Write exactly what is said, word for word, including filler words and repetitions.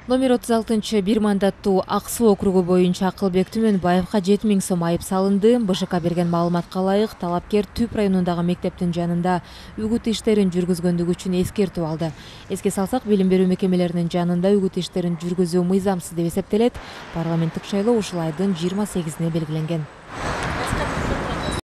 Номер отуз алтынчы бир мандаттуу Ак Суу округу боюнча Акылбек Түмөнбаевга жети миң сом айып салынды. БШК берген маалыматка ылайык, талапкер Түп районундагы мектептин жанында үгүт иштерин жүргүзгөндүгү үчүн эскертүү алды. Эске салсак, билим берүү мекемелеринин жанында үгүт иштерин жүргүзүү мыйзамсыз деп эсептелет. Парламенттик шайлоо ушул айдын жыйырма сегизине белгиленген.